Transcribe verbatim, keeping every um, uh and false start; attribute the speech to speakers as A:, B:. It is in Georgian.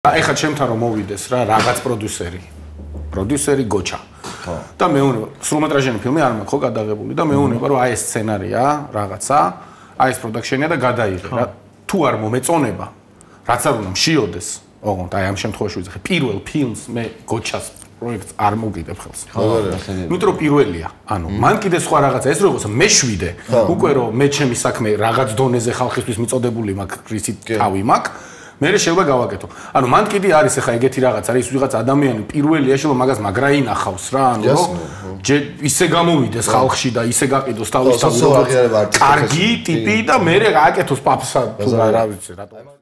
A: ეხლა ჩემთან რომ მოვიდეს რა რაღაც პროდიუსერი. პროდიუსერი გოჩა. და მეუბნება, სრულმეტრაჟიანი ფილმი არ მაქვს ხო გადაღებული და მეუბნება რომ აი ეს სცენარია, რაღაცა, აი ეს პროდაქშენია და გადაიღე რა. თუ არ მომეწონება, რაც არ უნდა მშიოდეს, ოღონდ აი ამ შემთხვევაში ვიძახე, პირველ ფილმს მე გოჩას პროექტს არ მოგიდებ ხელს. იმიტომ რომ პირველია. ანუ მან კიდე სხვა რაღაცა ეს როგორც მეშვიდე, უკვე რომ მე ჩემი საქმე რაღაც დონეზე ხალხისთვის მიწოდებული მაქვს, რითი თავი მაქვს. მე შეიძლება გავაკეთო. ანუ მან კიდე არის ახლა ეგეთი რაღაც არის ვიღაც ადამიანი პირველია შეიძლება მაგას მაგრა ინახავს რა, ანუ ისე გამოვიდეს ხალხში და ისე გაყიდოს თავის თავი. კარგი ტიპი და მე გააკეთოს პაპსა თუ რა ვიცი რატომ